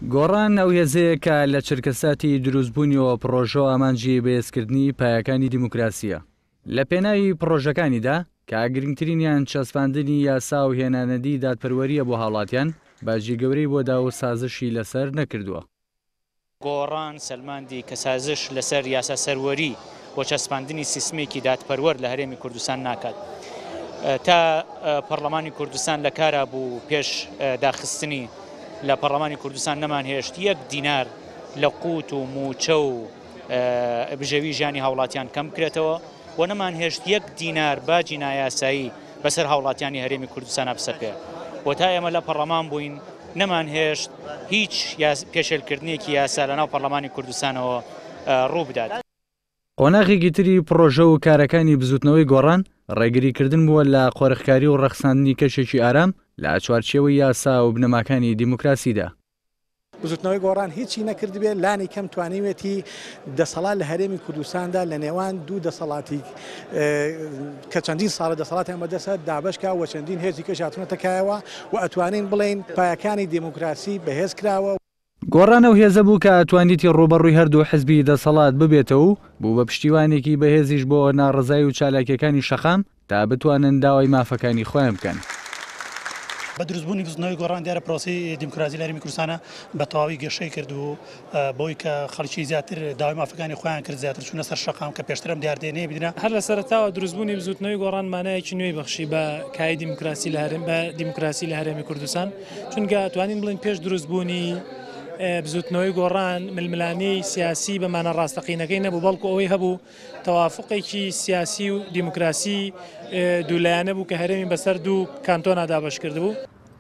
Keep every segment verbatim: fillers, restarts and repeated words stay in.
گۆڕان ئەو هێزەیە کە لە چرکەساتی دروستبوونیەوە پڕۆژە و ئامانجی بەهێزکردنی پایەکانی دیموکراسییە. لە پێناوی پڕۆژەکانیدا کە گرنگترینیان چەسپاندنی یاسا و هێنانەدی دادپەروەرییە بۆ هاوڵاتیان، باجی گەورەی بۆ دا و سازشی لەسەر نەکردووە. گۆڕان سەلماندی کە سازش لەسەر یاسا سەروەری و چەسپاندنی سیستمێکی دادپەروەر لە هەرێمی کوردستان ناکات. تا پەرلەمانی کوردستان لە کارا بوو پێش داخستنی لە پەرلەمانی کوردستان نەمانهێشت یەک دینار لە قوت و موچە و بژێوی ژیانی هاوڵاتیان کەم بکرێتەوە و نەمانهێشت یەک دینار باجی نایاسایی بەسەر هاوڵاتیانی هەرێمی کوردستان بسەپێ. و تا ئێمە لە پەرلەمان بووین نەمانهێشت هیچ پێشێلکردنێکی یاسا لەناو پەرلەمانی کوردستانەوە ڕوو بدات. قۆناغێکی تری پڕۆژە و کارەکانی بزوتنەوەی گۆڕان ڕێگریکردن بووە لە قۆرخکاری و ڕەخساندنی کەشێکی ئارام لە چوارچێوەی یاسا و بنەماکانی دیموکراسیدا. بزوتنەوەی گۆڕان هیچی نەکردبێت، لانی کەم توانیوێتی دەسەڵات لە هەرێمی کوردستاندا لە نێوان دوو دەسەڵاتی کە چەندین ساڵە دەسەڵاتیان بەدەستە دابەشکا و چەندین هێزی کەش هاتوونەتە کایەوە و ئەتوانین بڵێین پایەکانی دیموکراسی بەهێز کراوە. گۆڕان ئەو هێزە بوو کە توانیتی ڕووبەڕووی هەردوو حزبی دەسەڵات ببێتەوە و بوو بە پشتیوانێکی بەهێزیش بۆ ناڕەزایی و چالاکیەکانی شەقام تا بتوانن داوای مافەکانی خۆیان بکەن. بە دروستبوونی بزوتنەوەی گۆڕان دیارە پرۆسەی دیموکراسی لە هەرێمی کوردستانە بە تەواوی گەشەی کرد و بۆی کە خەڵکی زیاتر داوای مافەکانی خۆیان کرد، زیاتر چوونە سەر شەقام کە پێشترم دیاردەیە نەیبینرا. هەر لە سەرەتاوە دروستبوونی بزوتنەوەی گۆڕان مانایەکی نوێی بەخشی بە کای دیموکراسی لە هەرێم بە دیموکراسی لە هەرێمی کوردستان، چونکە توانین بڵێین پێش دروستبوونی بزوتنەوەی گۆڕان ململانێی سیاسی بە مانا ڕاستەقینەکەی نەبوو، بەڵکو ئەوەی هەبوو تەوافقێکی سیاسی و دیموکراسی دوولایەنە بوو کە هەرێمی بەسەر دوو کانتۆنا دابەش کردبوو.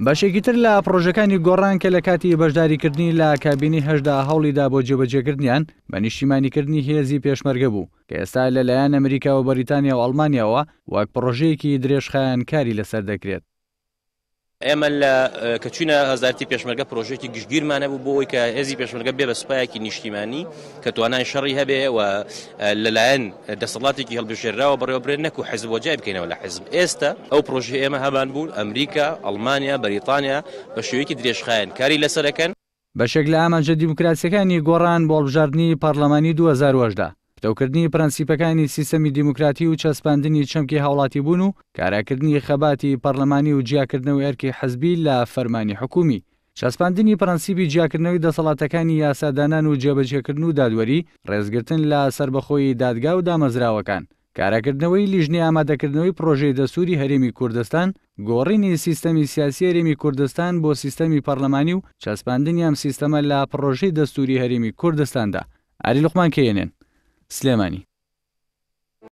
بەشێکی تر لە پڕۆژەکانی گۆڕان کە لە کاتی بەشداریکردنی لە کابینەی هەشدا هەوڵیدا بۆ جێبەجێکردنیان بە نیشتیمانیکردنی هێزی پێشمەرگە بوو کە ئێستا لەلایەن ئەمریکا و بەریتانیا و ئەڵمانیاوە وەک پڕۆژەیەکی درێژخایەن کاری لەسەر دەکرێت. ئێمە لە کە چوینە وەزارەتی پێشمەرگە پرۆژێکی گشتگیرمان هەبوو بۆ ئەوەی کە هێزی پێشمەرگە بێ بە سوپایەکی نیشتیمانی کە توانای شەڕی هەبێ و لەلایەن دەسەڵاتێکی هەڵبژێراوە بەڕێوەبرێت، نەکو حزب وەجای بکەینەوە لە حزب. ئێستا ئەو پرۆژەی ئێمە هەمان بوو، ئەمریکا، ئەڵمانیا، بەریتانیا بە شێوەیەکی درێژخایەن کاری لەسەرەکەن. بەشێک لە ئامانجە دیموکراسیەکانی گۆڕان بۆ هەڵبژاردنی پەرلەمانی دوو هەزار و هەژدە پتەوکردنی پرەنسیپەکانی سیستەمی دیموکراتی و چەسپاندنی چەمکی هاوڵاتیبوون و کاراکردنی خەباتی پەرلەمانی و جیاکردنەوەی ئەرکی حزبی لە فەرمانی حکومی، چەسپاندنی پرەنسیپی جیاکردنەوەی دەسەڵاتەکانی یاسادانان و جێبەجێکردن و دادوەری، ڕێزگرتن لە سەربەخۆیی دادگا و دامەزراوەکان، کاراکردنەوەی لیژنەی ئامادەکردنەوەی پرۆژەی دەستوری هەرێمی کوردستان، گۆڕینی سیستەمی سیاسی هەرێمی کوردستان بۆ سیستەمی پەرلەمانی و چەسپاندنی ئەم سیستەمە لە پرۆژەی دەستوری هەرێمی کوردستاندا. ئاری لوقمان کەیەنێن، سلێمانی.